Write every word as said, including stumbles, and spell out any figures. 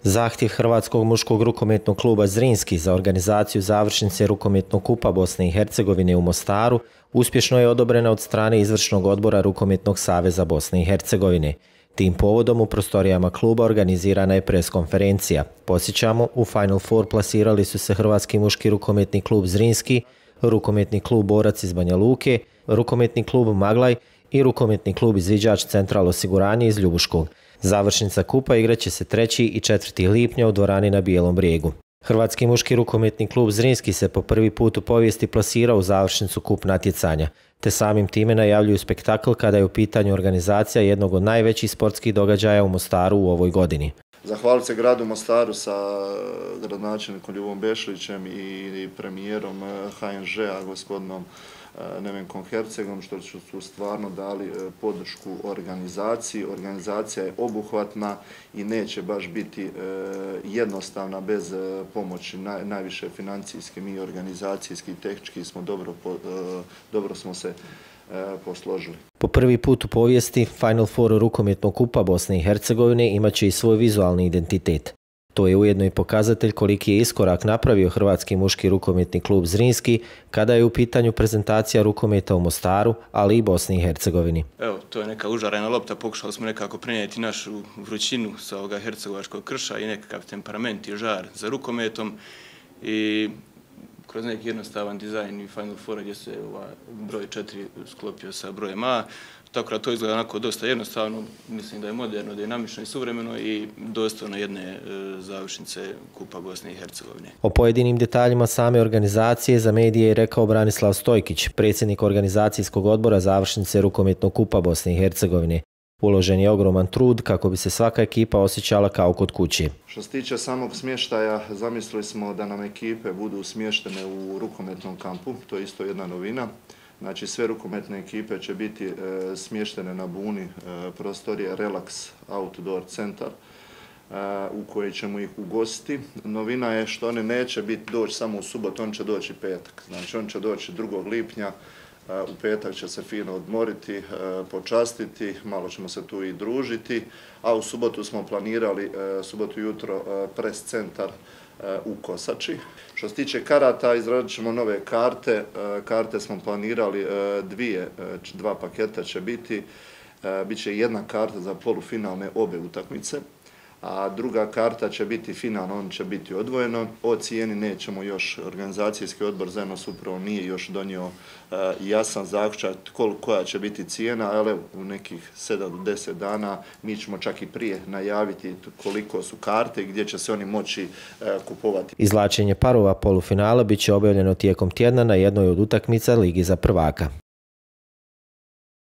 Zahtjev Hrvatskog muškog rukometnog kluba Zrinski za organizaciju završnice rukometnog kupa Bosne i Hercegovine u Mostaru uspješno je odobrena od strane Izvršnog odbora Rukometnog saveza Bosne i Hercegovine. Tim povodom u prostorijama kluba organizirana je preskonferencija. Podsjećamo, u Final Four plasirali su se Hrvatski muški rukometni klub Zrinski, rukometni klub Borac iz Banja Luke, rukometni klub Maglaj i rukometni klub Izviđač Central osiguranje iz Ljubuškog. Završnica kupa igraće se trećeg i četvrtog lipnja u dvorani na Bijelom brijegu. Hrvatski muški rukometni klub Zrinski se po prvi put u povijesti plasirao u završnicu kup natjecanja, te samim time najavljuju spektakl kada je u pitanju organizacija jednog od najvećih sportskih događaja u Mostaru u ovoj godini. Zahvaliti se gradu Mostaru sa gradonačelnikom Ljubom Bešlićem i premijerom H N Ž-a gospodinom Nevenkom Hercegom što su stvarno dali podršku organizaciji. Organizacija je obuhvatna i neće baš biti jednostavna bez pomoći najviše financijske, mi organizacijski i tehnički smo dobro, dobro smo se posložili. Po prvi put u povijesti Final Four rukometnog kupa Bosne i Hercegovine imaće i svoj vizualni identitet. To je ujedno i pokazatelj koliki je iskorak napravio Hrvatski muški rukometni klub Zrinski kada je u pitanju prezentacija rukometa u Mostaru, ali i Bosni i Hercegovini. Evo, to je neka užarena lopta, pokušali smo nekako prenijeti našu vrućinu sa ovoga hercegovačkog krša i nekakav temperament i žar za rukometom i kroz neki jednostavan dizajn i Final Four gdje se broj četiri sklopio sa brojem A. Tako da to izgleda onako dosta jednostavno, mislim da je moderno, dinamično i suvremeno i dostojno jedne završnice Kupa Bosne i Hercegovine. O pojedinim detaljima same organizacije za medije je rekao Branislav Stojkić, predsjednik organizacijskog odbora završnice rukometnog Kupa Bosne i Hercegovine. Uložen je ogroman trud kako bi se svaka ekipa osjećala kao kod kuće. Što se tiče samog smještaja, zamislili smo da nam ekipe budu smještene u rukometnom kampu, to je isto jedna novina. Znači sve rukometne ekipe će biti e, smještene na Buni, e, prostorije Relax Outdoor Centar e, u kojoj ćemo ih ugostiti. Novina je što one neće biti doći samo u subotu, on će doći petak. Znači on će doći drugog lipnja, e, u petak će se fino odmoriti, e, počastiti, malo ćemo se tu i družiti, a u subotu smo planirali, e, subotu jutro, e, pres centar u Kosači. Što se tiče karata, izradit ćemo nove karte. Karte smo planirali dvije, dva paketa će biti. Biće jedna karta za polufinalne obe utakmice, a druga karta će biti finalna, on će biti odvojeno. O cijeni nećemo još, organizacijski odbor zajedno s upravom nije još donio jasan zaključak koja će biti cijena, ali u nekih sedam do deset dana mi ćemo čak i prije najaviti koliko su karte i gdje će se oni moći kupovati. Izvlačenje parova polufinala bit će objavljeno tijekom tjedna na jednoj od utakmica Ligi za prvaka.